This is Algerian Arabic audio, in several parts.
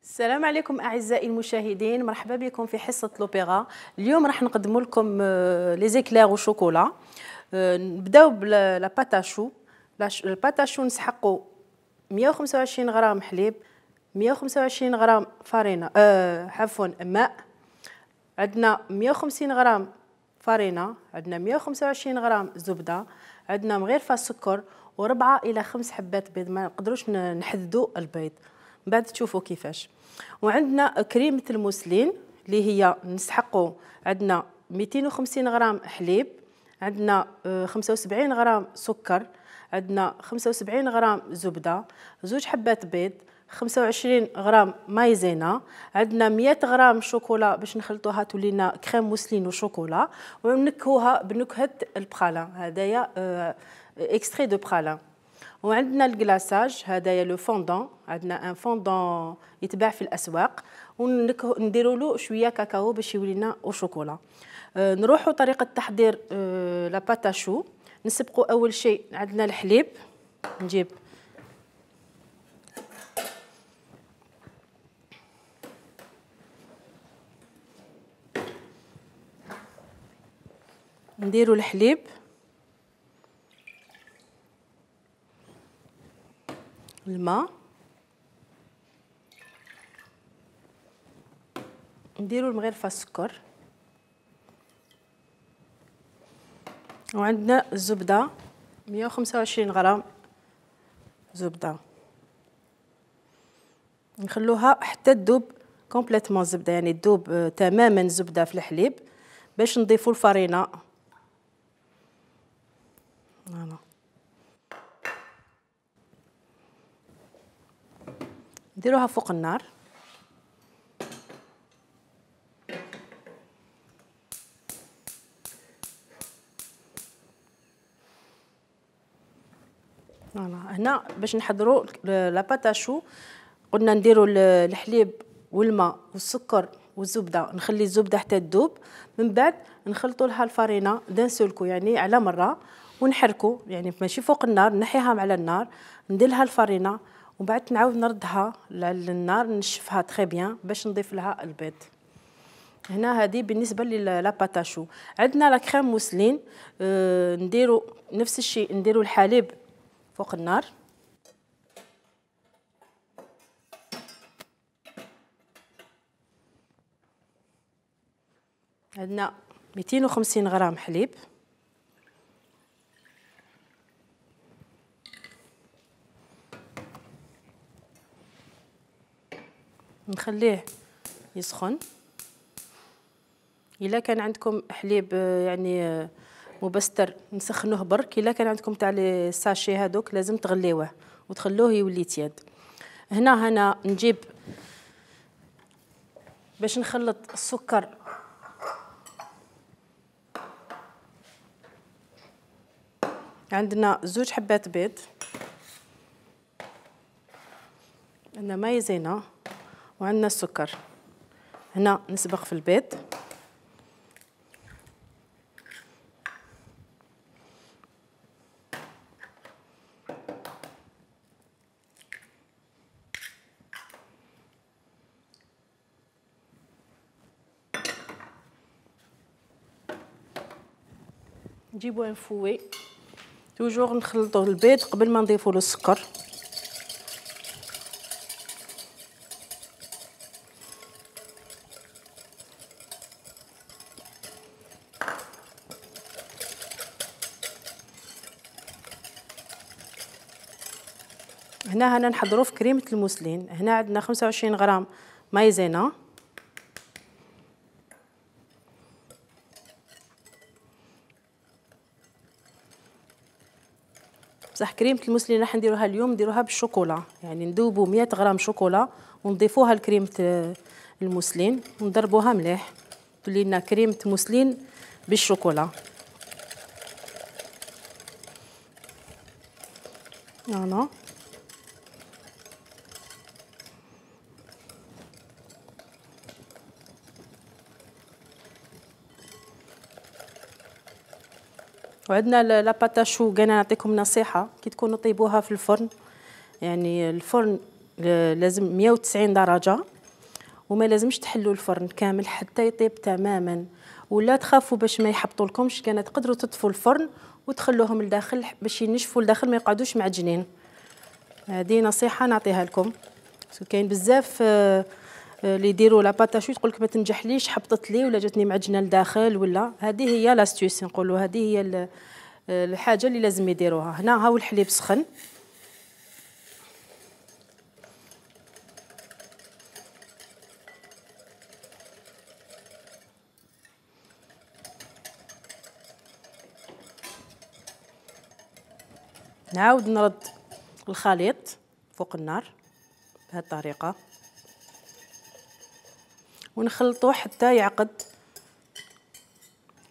السلام عليكم أعزائي المشاهدين، مرحبا بكم في حصة لوبيرا. اليوم راح نقدم لكم لي زيكلير وشوكولا. نبداو بلا باتاشو. الباتاشو نسحقوا 125 غرام حليب، 125 غرام فارينة عفوا ماء، عندنا 150 غرام فارينة، عندنا 125 غرام زبدة، عندنا مغرفة سكر و4 إلى 5 حبات بيض. ما نقدروش نحددوا البيض، من بعد تشوفوا كيفاش. وعندنا كريمة الموسلين اللي هي نسحقوا، عندنا 250 غرام حليب، عندنا 75 غرام سكر، عندنا 75 غرام زبدة، 2 حبات بيض، 25 غرام مايزينا، عندنا 100 غرام شوكولا باش نخلطوها تولينا كريم موسلين وشوكولا، ونكهوها بنكهة البخالة. هدايا اكستري دو بخالة. وعندنا الكلاصاج، هدايا لو فوندون، عندنا ان فوندون يتباع في الاسواق، ونديروا له شويه كاكاو باش يولينا وشوكولا. نروحوا طريقه تحضير لا باتاشو. نسبقوا اول شيء عندنا الحليب، نجيب نديروا الحليب، الماء، نديروا المغرفه السكر، وعندنا الزبده 125 غرام زبده. نخلوها حتى تذوب كومبليتمون الزبده، يعني تذوب تماما الزبده في الحليب باش نضيفوا الفرينه. فوالا نديروها فوق النار. هنا باش نحضروا لا باتاشو، قلنا نديروا الحليب والماء والسكر والزبده، نخلي الزبده حتى تذوب، من بعد نخلطوا لها الفرينه دان سولكو، يعني على مره، ونحركوا، يعني ماشي فوق النار، نحيها على النار، ندير لها الفرينه، ومن بعد نعاود نردها للنار، نشفها تري بيان باش نضيف لها البيض. هنا هذه بالنسبه للا باتاشو. عندنا لا كريم موسلين، نديروا نفس الشيء، نديروا الحليب فوق النار، عندنا 250 غرام حليب، نخليه يسخن. الا كان عندكم حليب يعني مبستر نسخنوه برك، الا كان عندكم تاع لي ساشي هذوك لازم تغليوه وتخلوه يولي تياد. هنا نجيب باش نخلط السكر، عندنا 2 حبات بيض، عندنا مايزينا، وعندنا السكر. هنا نسبق في البيض، نجيبو ان فوي، توجور نخلطوا البيض قبل ما نضيفوا له السكر. هنا نحضروا في كريمه الموسلين. هنا عندنا 25 غرام مايزينا، بصح كريمه الموسلين راح نديروها اليوم نديروها بالشوكولا، يعني نذوبوا 100 غرام شوكولا ونضيفوها لكريمه الموسلين ونضربوها مليح، تولي لنا كريمه موسلين بالشوكولا. فوالا وعندنا لا باتاشو. كاين نعطيكم نصيحه، كي تكونوا طيبوها في الفرن، يعني الفرن لازم 190 درجه، وما لازمش تحلوا الفرن كامل حتى يطيب تماما، ولا تخافوا باش ما يحبطولكمش، كان تقدروا تطفوا الفرن وتخلوهم لداخل باش ينشفوا لداخل ما يقعدوش معجنين. هذه نصيحه نعطيها لكم. كاين بزاف اللي يديروا لا باتاشو تقول لك ما تنجحليش، حبطت لي ولا جاتني معجنه لداخل، ولا هذه هي لاستيوس نقولوا، هذه هي الحاجه اللي لازم يديروها. هنا هاو الحليب سخن، نعاود نرد الخليط فوق النار بهذه الطريقه ونخلطوه حتى يعقد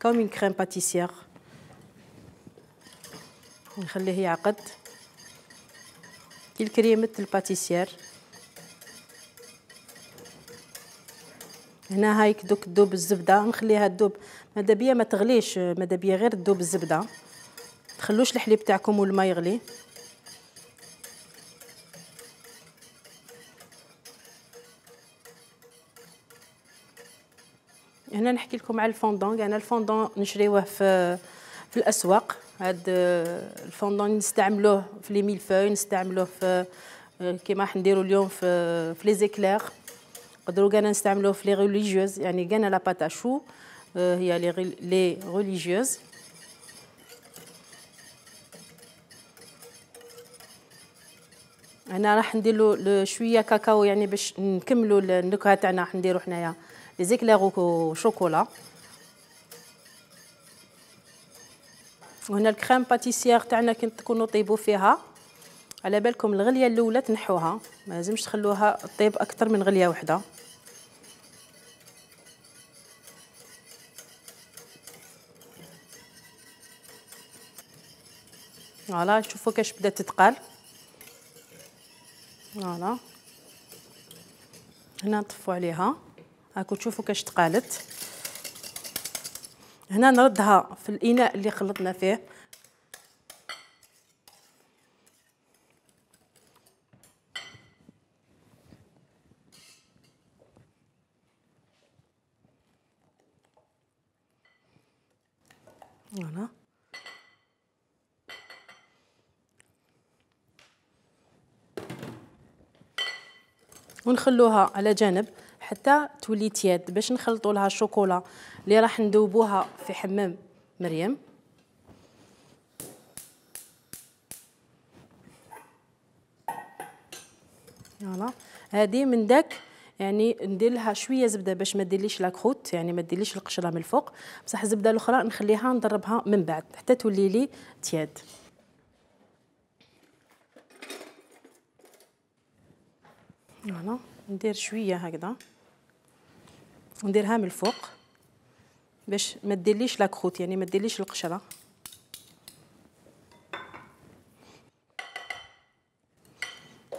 كوم كريم باتيسير، ونخليه يعقد كي كريمه الباتيسير. هنا هايك دوك تذوب الزبده، نخليها تذوب ماذا بيا ما تغليش، ماذا بيا غير تذوب الزبده، تخلوش الحليب تاعكم والماء يغلي. هنا نحكي لكم على الفوندون. انا الفوندون نشريوه في الاسواق. هاد الفوندون نستعملوه في لي ميلفوي، نستعملوه في كيما راح نديروا اليوم في لي زيكلير، نقدروا كاع نستعملوه في لي ريليجيوز، يعني كاع لا باتاشو هي لي ريليجيوز. انا راح ندير له شويه كاكاو يعني باش نكملوا النكهه تاعنا. راح نديروا حنايا لي زيكلير وشوكولا. وهنا الكريم باتيسير تاعنا كي تكونوا طيبوا فيها، على بالكم الغليه الاولى تنحوها، ما لازمش تخلوها طيب اكثر من غليه واحده. فوالا شوفوا كاش بدات تتقال. فوالا هنا نطفوا عليها، هاكو تشوفوا كاش تقالت. هنا نردها في الاناء اللي خلطنا فيه. فوالا ونخلوها على جانب حتى تولي تياد، باش نخلطوا لها الشوكولا اللي راح ندوبوها في حمام مريم. فوالا هذه من داك يعني ندير لها شويه زبده باش ما ديرليش لاكروت، يعني ما ديرليش القشره من الفوق، بصح الزبده الاخرى نخليها نضربها من بعد حتى تولي لي تياد. فوالا ندير شويه هكذا ونديرها من الفوق باش ما ديرليش لاكروت، يعني ما ديرليش القشره.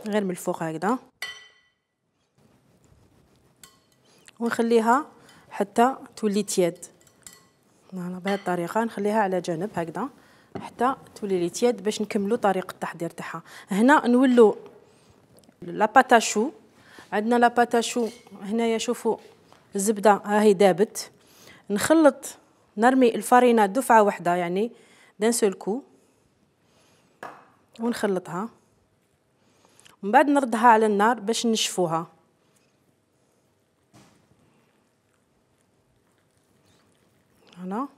غير من الفوق هكذا ونخليها حتى تولي تياد. فوالا بهذه الطريقه نخليها على جانب هكذا حتى تولي لي تياد باش نكملوا طريقه التحضير تاعها. هنا نولوا لا باتاشو. عندنا لا باتاشو هنايا شوفوا الزبده ها هي دابت. نخلط نرمي الفارينه دفعه واحده يعني دان سول كو ونخلطها، ومن بعد نردها على النار باش نشفوها. هنا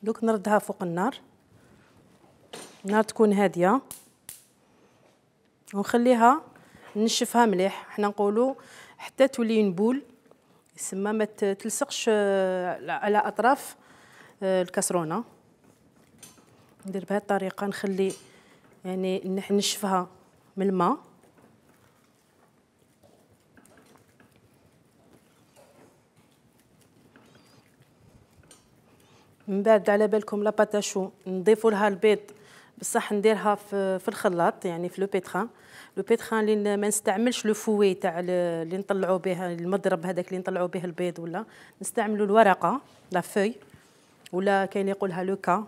دوك نردها فوق النار تكون هاديه ونخليها نشفها مليح. حنا نقولوا حتى تولي نبول، يسمى ما تلصقش على اطراف الكاسرونه. ندير بهذه الطريقه، نخلي يعني نشفها من الماء. من بعد على بالكم لا باتاشو نضيفوا لها البيض، بصح نديرها في الخلاط يعني في لو بيتران اللي ما نستعملش لو فوي تاع اللي نطلعوا به المضرب هذاك اللي نطلعوا به البيض، ولا نستعملوا الورقه لا فوي، ولا كاين يقولها لوكا.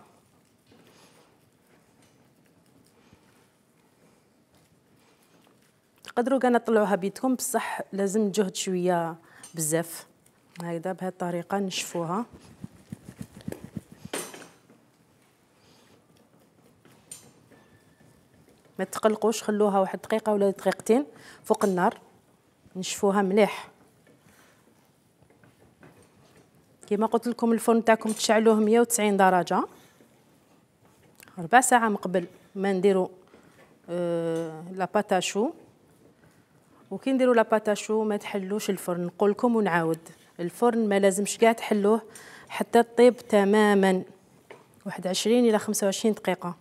تقدروا كاع تطلعوها بيدكم، بصح لازم جهد شويه بزاف. هكذا بهذه الطريقه نشفوها. ما تقلقوش، خلوها واحد دقيقه ولا دقيقتين فوق النار نشفوها مليح. كما قلت لكم الفرن تاعكم تشعلوه 190 درجه 4 ساعة من قبل ما نديرو لا باتاشو. وكي نديرو لا باتاشو ما تحلوش الفرن، نقول لكم ونعاود، الفرن ما لازمش كاع تحلوه حتى طيب تماما، واحد 20 الى 25 دقيقه.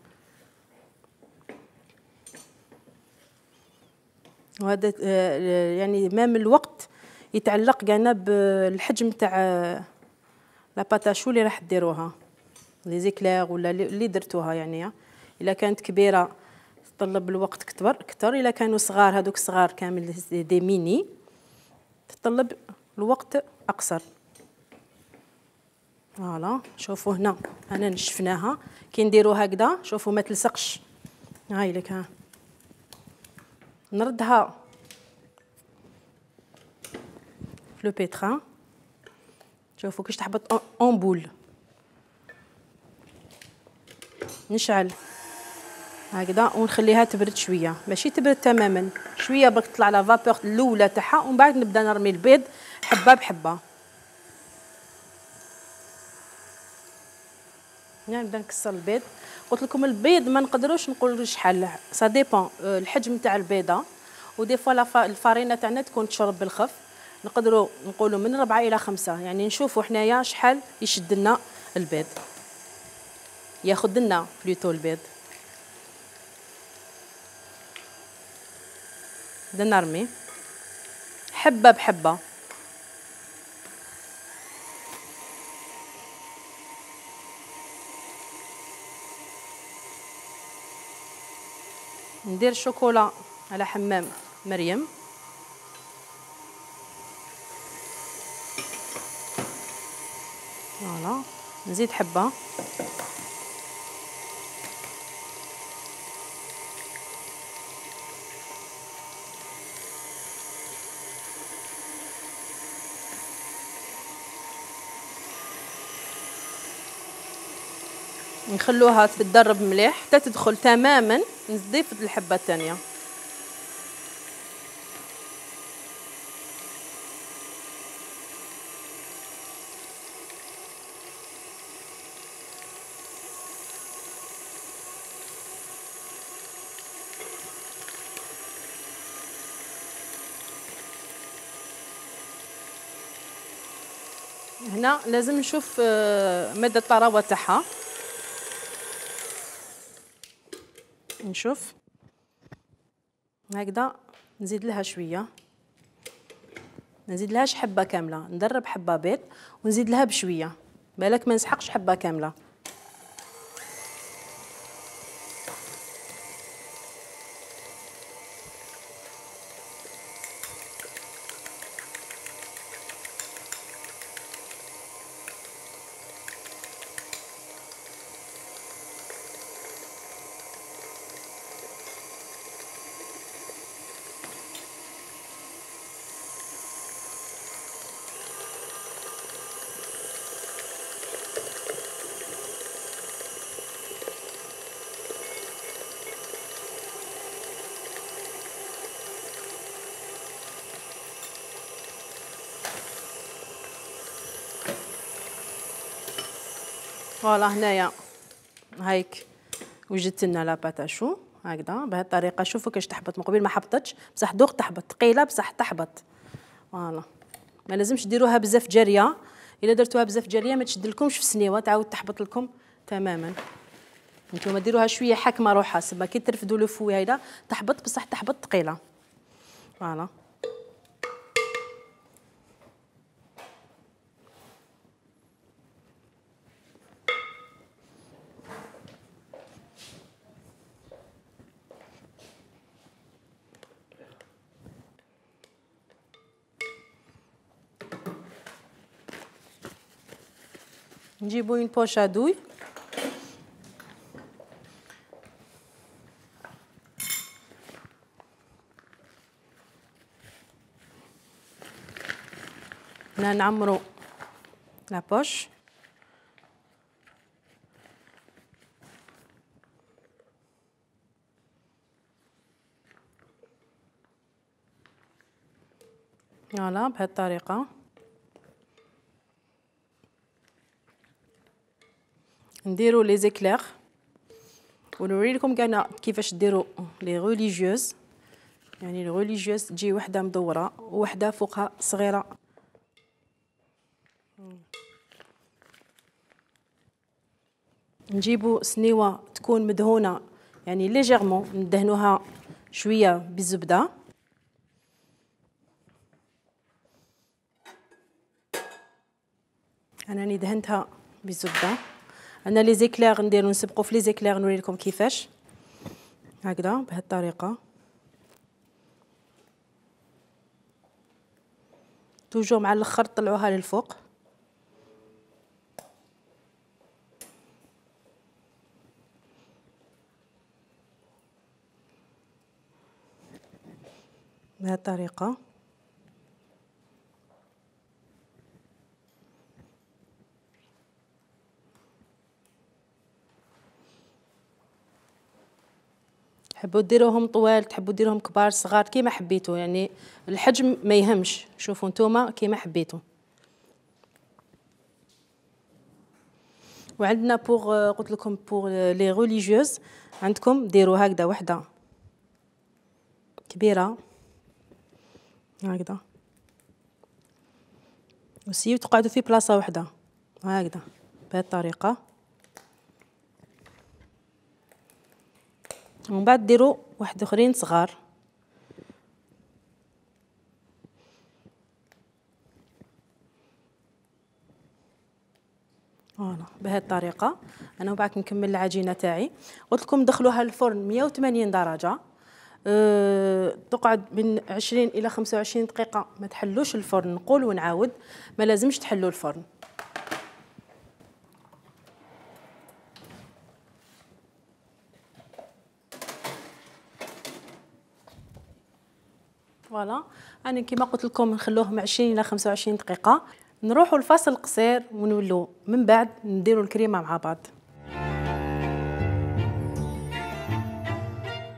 وهذا يعني مام الوقت يتعلق كاع بالحجم تاع لا باتاشو اللي راح ديروها، لي زيكلير ولا اللي درتوها. يعني الا كانت كبيره تطلب الوقت كثر، الا كانوا صغار هذوك صغار كامل دي ميني تطلب الوقت اقصر. فوالا شوفوا هنا انا نشفناها، كي نديرو هكذا شوفوا ما تلصقش. هاي لك ها نردها في لو بيتران، شوفوا كيش تحبط اون بول. نشعل هكذا ونخليها تبرد شويه، ماشي تبرد تماما، شويه برك تطلع لا فابور الاولى تاعها، ومن بعد نبدا نرمي البيض حبه بحبه. نبدا نكسر البيض. قلت لكم البيض ما نقدروش نقولوا شحال، سا ديبون الحجم تاع البيضه، ودي فوا الفارينه تاعنا تكون تشرب بالخف، نقدروا نقولوا من 4 إلى 5، يعني نشوفوا حنايا شحال يشد لنا البيض، ياخذ لنا بلوتو البيض. بدنا نرمي حبه بحبه. ندير الشوكولا على حمام مريم. فوالا نزيد حبه. نخلوها تتدرب مليح حتى تدخل تماما، نضيف الحبه الثانيه. هنا لازم نشوف مدى الطراوه تاعها، نشوف هكذا. نزيد لها شويه، نزيد لهاش حبه كامله، ندرب حبه بيض ونزيد لها بشويه، بالك ما نسحقش حبه كامله. فوالا هنايا هايك وجدت لنا لا باتاشو هكذا بهذه الطريقه. شوفوا كيش تحبط، من قبل ما حبطتش بصح دوق تحبط، ثقيله بصح تحبط. فوالا ما لازمش ديروها بزاف جاريه، الا درتوها بزاف جاريه ما تشدلكمش في السنيوه، تعاود تحبط لكم تماما. نتوما ديروها شويه حاكمه روحها، سما كي ترفدوا لو فوي هيدا تحبط بصح تحبط ثقيله. فوالا نجيبو اون بوش ادوي، هنا نعمرو لابوش. فوالا بهذه الطريقه. نديرو لي زيكلير ونوريلكم كاع كيفاش ديروا لي ريليجيوز. يعني الريليجيوز تجي وحده مدوره ووحده فوقها صغيره. نجيبو سنيوه تكون مدهونه يعني ليجيرمون، ندهنوها شويه بالزبده. انا راني دهنتها بالزبده. انا لي زيكلير نديرو نسبقو في لي زيكلير نوريلكم كيفاش. هكذا بهذه الطريقه توجور مع الاخر طلعوها للفوق. بهذه الطريقه. تحبوا ديروهم طوال، تحبوا ديروهم كبار صغار كيما حبيتوا، يعني الحجم ما يهمش. شوفوا نتوما كيما حبيتوا. وعندنا بوغ قلت لكم بوغ لي ريليجيوز عندكم ديروا هكذا وحده كبيره هكذا، وسيو تقعدوا في بلاصه وحده هكذا بهذه الطريقه. ومن بعد ديروا واحد اخرين صغار. فوالا بهذه الطريقه. انا وبعد نكمل العجينه تاعي. قلت لكم دخلوها الفرن 180 درجه، تقعد من 20 الى 25 دقيقه. ما تحلوش الفرن، نقول ونعاود، ما لازمش تحلوا الفرن. فوالا انا كيما قلت لكم نخلوه من 20 الى 25 دقيقه. نروحوا لفاصل قصير ونولوا من بعد نديروا الكريمه مع بعض.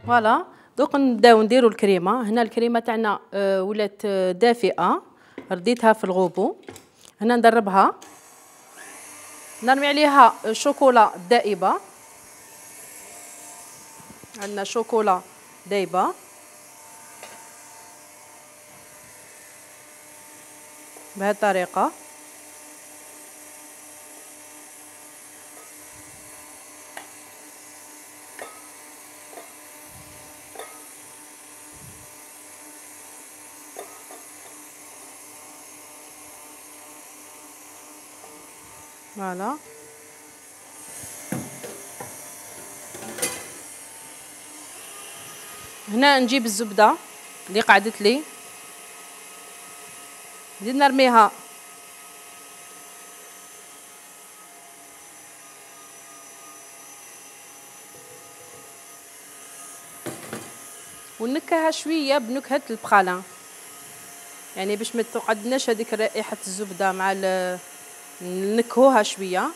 فوالا دوك نبداو نديروا الكريمه. هنا الكريمه تاعنا ولات دافئه، رديتها في الغوبو. هنا ندربها، نرمي عليها شوكولا دائبه. عندنا شوكولا دايبه بهذه الطريقه. فوالا هنا نجيب الزبده اللي قعدت لي، نزيد نرميها ونكهها شويه بنكهه البخالان، يعني باش ما تقعدناش هذيك رائحه الزبده مع نكهوها شويه.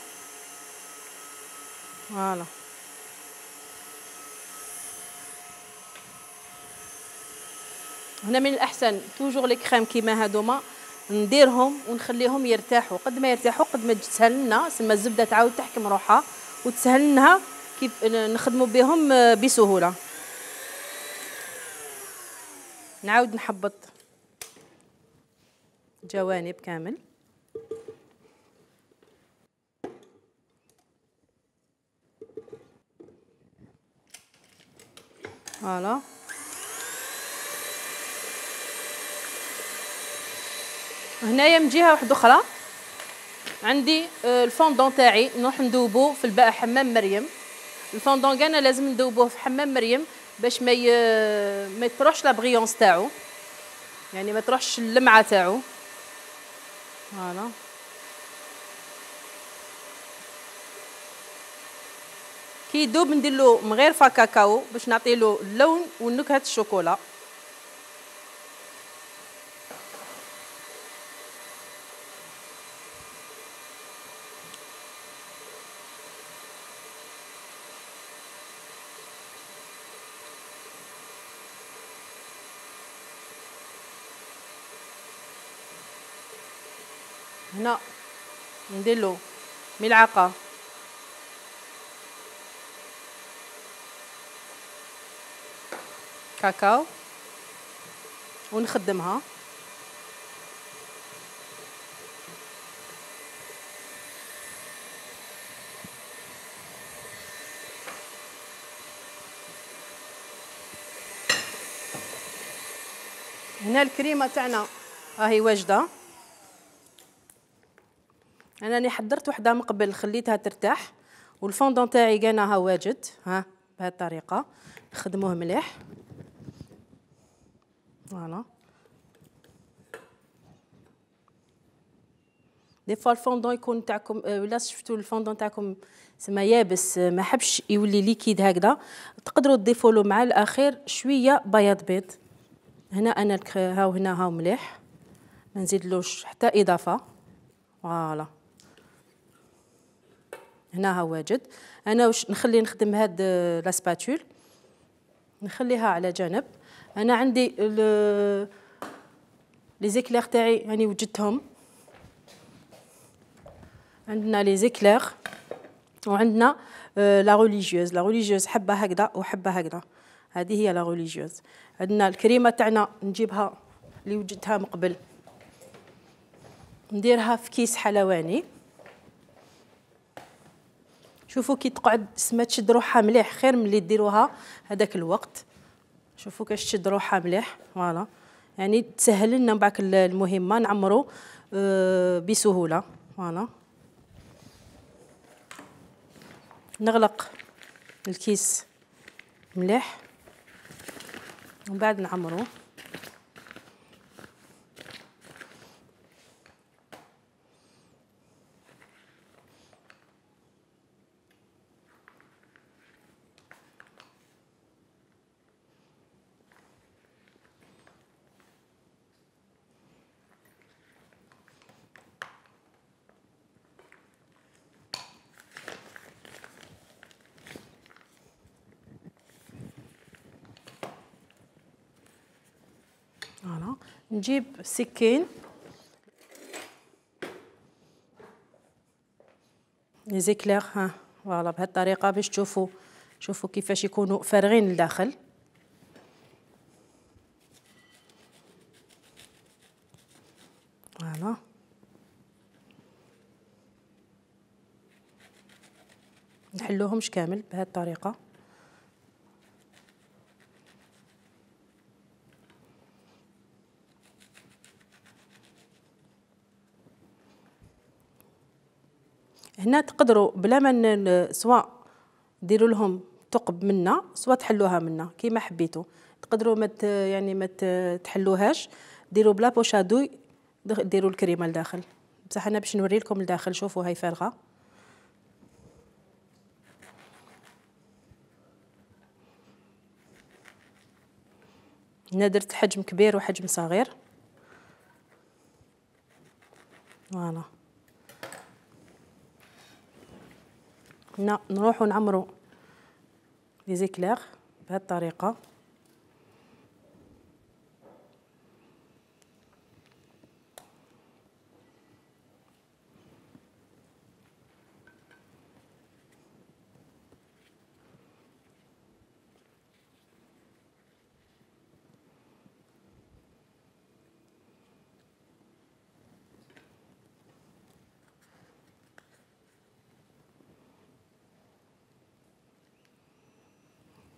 فوالا هنا من الاحسن توجور لي كريم كيما هادوما نديرهم ونخليهم يرتاحوا. قد ما يرتاحوا قد ما تسهل لنا، سما الزبده تعاود تحكم روحها وتسهل لنا كيف نخدموا بهم بسهوله. نعاود نحبط جوانب كامل. فوالا هنايا من جهه واحده اخرى عندي الفوندون تاعي نروح ندوبو في الباء حمام مريم. الفوندون كاع لازم ندوبوه في حمام مريم باش ما تروحش لا بريونس تاعو، يعني ما تروحش اللمعه تاعو. فوالا كي يدوب نديرلو من غير كاكاو باش نعطيلو اللون ونكهه الشوكولا. هنا نديرلو ملعقة كاكاو ونخدمها. هنا الكريمه تاعنا راهي واجده. انا راني حضرت وحده من قبل خليتها ترتاح، والفوندون تاعي كانها واجد. ها بهذه الطريقه نخدموه مليح. فوالا دي فوا الفوندون يكون تاعكم ولا شفتوا الفوندون تاعكم سما يابس ما حبش يولي ليكيد هكذا، تقدروا تضيفوا له مع الاخير شويه بياض بيض. هنا انا هاو هنا هاو مليح، ما نزيدلوش حتى اضافه. فوالا هنا ها واجد. انا واش نخلي نخدم هاد لا سباتول، نخليها على جانب. انا عندي لي زيكلير تاعي يعني وجدتهم. عندنا لي زيكلير وعندنا لا ريليجيوز. لا ريليجيوز حبه هكذا وحبه هكذا، هذه هي لا ريليجيوز. عندنا الكريمه تاعنا نجيبها اللي وجدتها من قبل، نديرها في كيس حلواني. شوفوا كي تقعد سما تشد روحها مليح، خير من اللي ديروها هذاك الوقت. شوفوا كاش تشد روحها مليح. فوالا يعني تسهل لنا بعك المهمه، نعمرو بسهوله. فوالا نغلق الكيس مليح ومن بعد نعمرو. فوالا نجيب سكين لي زيكلير. ها فوالا بهذه الطريقه باش تشوفوا. شوفوا كيفاش يكونوا فارغين لداخل. فوالا نحلوهمش كامل بهذه الطريقه. هنا تقدروا بلا ما سواء ديروا لهم ثقب منا سواء تحلوها منا كيما حبيتوا. تقدروا يعني ما تحلوهاش، ديروا بلا بوشادوي، ديروا الكريمه لداخل. بصح انا باش نوري لكم لداخل. شوفوا هاي فارغه. هنا درت حجم كبير وحجم صغير. فوالا هنا نروحوا نعمروا لي زيكلير بهذه الطريقه.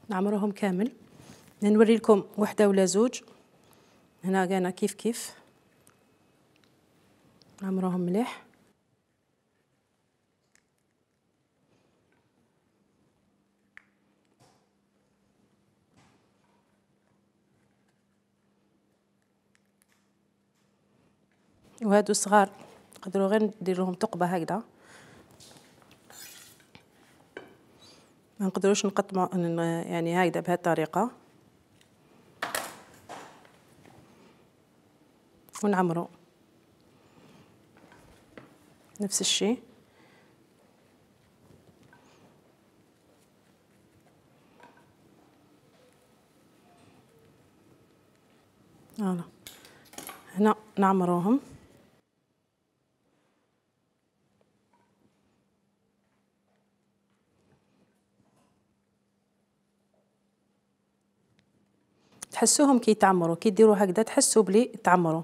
نعمرهم كامل. نوري لكم وحده ولا زوج. هنا كانا كيف كيف نعمروهم مليح. وهادو صغار تقدروا غير ندير لهم ثقبه هكذا، ما نقدروش نقطموا يعني هكذا بهذه الطريقه ونعمروا نفس الشيء. فوالا هنا نعمروهم. تحسوهم كي يتعمروا، كي ديروا هكذا تحسوا بلي تعمروا،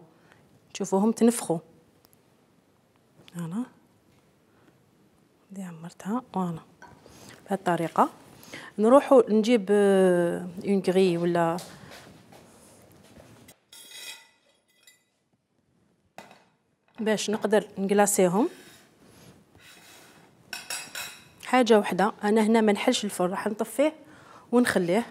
تشوفوهم تنفخوا. فوالا دي عمرتها فوالا بهذه الطريقه. نروحوا نجيب اون غري ولا باش نقدر نقلاصيهم. حاجه وحده، انا هنا ما نحلش الفرن، راح نطفيه ونخليه.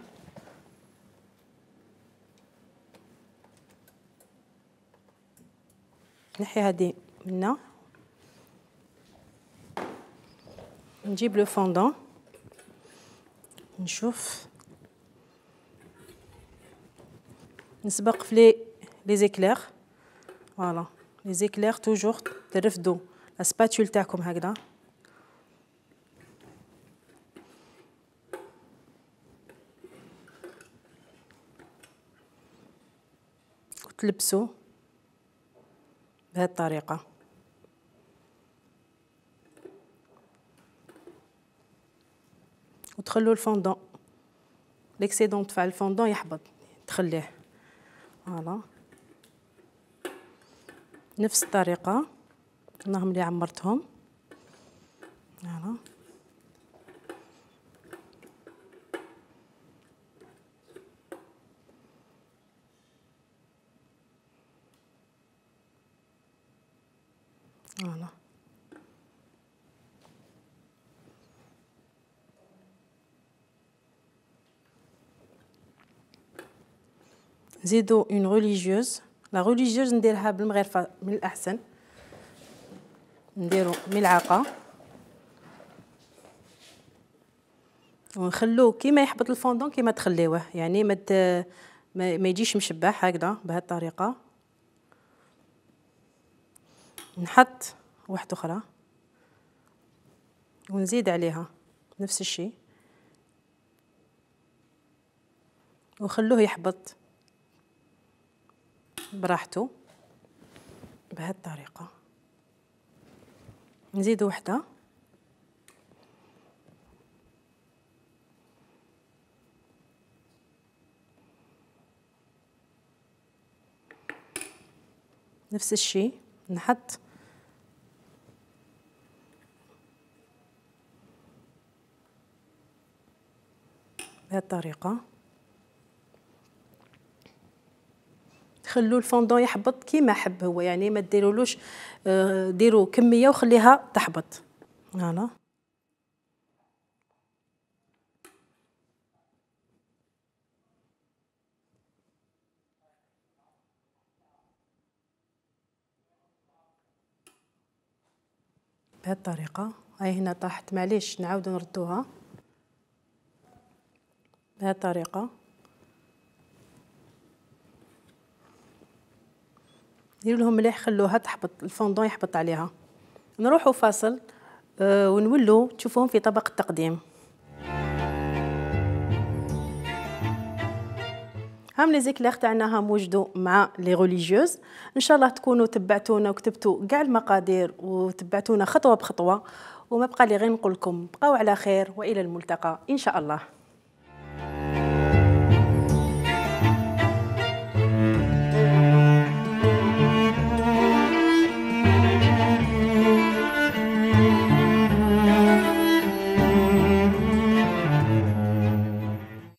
نحي هذه منا، نجيب لو فوندون نشوف، نسبق في لي زيكلير. فوالا لي زيكلير توجور ترفدوا لا سباتول تاعكم هكذا، وتلبسوا بهذه الطريقه. وتخلوا الفوندون ليكسيدون تاع الفوندون يحبط، تخليه. فوالا نفس الطريقه راهم اللي عمرتهم. فوالا فوالا نزيدو اون ريليجيوز. لا ريليجيوز نديرها بالمغرفه من الاحسن، نديرو ملعقه ونخلوه كيما يحبط الفوندون كيما تخليوه، يعني ما يجيش مشبح هكذا بهذه الطريقه. نحط واحده اخرى ونزيد عليها نفس الشيء وخلوه يحبط براحته بهذه الطريقه. نزيد وحده نفس الشيء، نحط بهذه الطريقه. خلوا الفوندون يحبط كيما حب هو، يعني ما ديرولوش ديروا كميه وخليها تحبط. فوالا بهذه الطريقه. هاي هنا طاحت، معليش نعاودو نردوها بهذه الطريقه. ديروا لهم مليح، خلوها تحبط الفوندون يحبط عليها. نروحوا فاصل ونولوا تشوفوهم في طبق التقديم. هام لي زيكلير تاعنا هم وجدوا مع لي ريليجيوز. ان شاء الله تكونوا تبعتونا وكتبتوا كاع المقادير وتبعتونا خطوه بخطوه، وما بقى لي غير نقول لكم بقاو على خير والى الملتقى ان شاء الله.